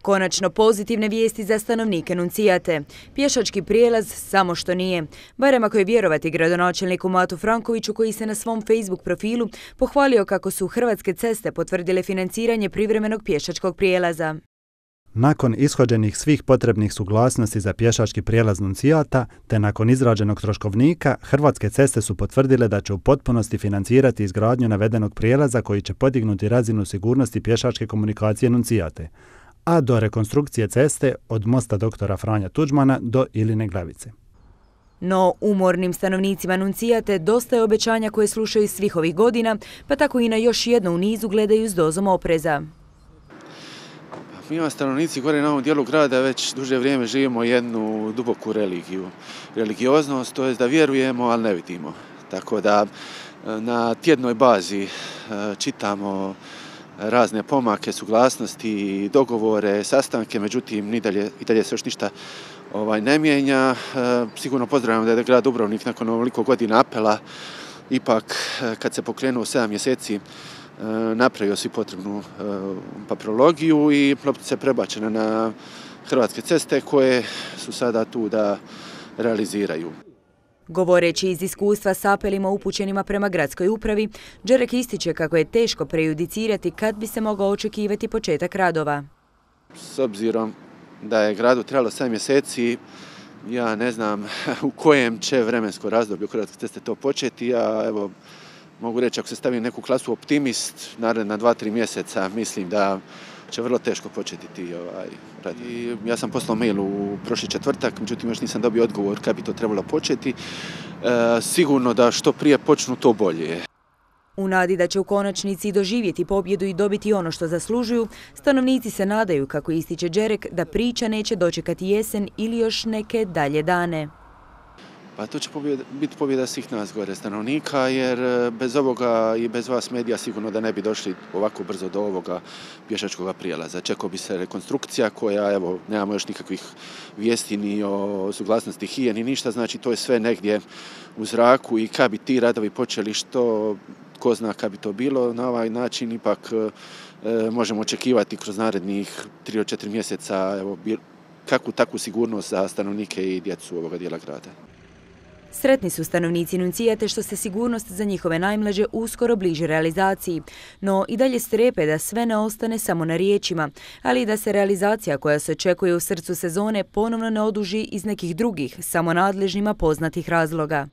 Konačno pozitivne vijesti za stanovnike Nuncijate. Pješački prijelaz samo što nije. Barem ako je vjerovati gradonačelniku Matu Frankoviću, koji se na svom Facebook profilu pohvalio kako su Hrvatske ceste potvrdile financiranje privremenog pješačkog prijelaza. Nakon ishođenih svih potrebnih suglasnosti za pješački prijelaz Nuncijata, te nakon izrađenog troškovnika, Hrvatske ceste su potvrdile da će u potpunosti financirati izgradnju navedenog prijelaza koji će podignuti razinu sigurnosti pješačke komunikacije Nuncijate, a do rekonstrukcije ceste od mosta dr. Franja Tuđmana do Iline Glavice. No, umornim stanovnicima Nuncijate dosta je obećanja koje slušaju svih ovih godina, pa tako i na još jedno u nizu gledaju s dozom opreza. Mi stanovnici gore na ovom dijelu grada već duže vrijeme živimo jednu duboku religiju. Religioznost, to je da vjerujemo, ali ne vidimo. Tako da na tjednoj bazi čitamo razne pomake, suglasnosti, dogovore, sastanke, međutim i dalje se još ništa ne mijenja. Sigurno pozdravljam da je grad Dubrovnik nakon ovoliko godina apela ipak kad se pokrenuo 7 mjeseci napravio si potrebnu papirologiju i loptica je prebačena na Hrvatske ceste koje su sada tu da realiziraju. Govoreći iz iskustva s apelima upućenima prema gradskoj upravi, Đerek ističe kako je teško prejudicirati kad bi se mogao očekivati početak radova. S obzirom da je gradu trebalo 7 mjeseci, ja ne znam u kojem će vremensko razdoblju Hrvatske ceste to početi, a evo mogu reći, ako se stavim neku klasu optimist, naredna 2-3 mjeseca, mislim da će vrlo teško početi ti rad. Ja sam poslao mail u prošli četvrtak, međutim još nisam dobio odgovor kad bi to trebalo početi. Sigurno da što prije počnu, to bolje. U nadi da će u konačnici doživjeti pobjedu i dobiti ono što zaslužuju, stanovnici se nadaju, kako ističe Đerek, da priča neće dočekati jesen ili još neke dalje dane. Pa to će biti pobjeda svih nas gore stanovnika, jer bez ovoga i bez vas medija sigurno da ne bi došli ovako brzo do ovoga pješačkog prijelaza. Čekao bi se rekonstrukcija koja, evo, nemamo još nikakvih vijesti ni o suglasnosti HIE ni ništa, znači to je sve negdje u zraku i kad bi ti radovi počeli, što ko zna kad bi to bilo, na ovaj način ipak možemo očekivati kroz narednih 3-4 mjeseca kakvu takvu sigurnost za stanovnike i djecu ovoga dijela grada. Sretni su stanovnici Nuncijate što se sigurnost za njihove najmlađe uskoro bliže realizaciji, no i dalje strepe da sve ne ostane samo na riječima, ali i da se realizacija koja se očekuje u srcu sezone ponovno ne oduži iz nekih drugih, samo nadležnjima poznatih razloga.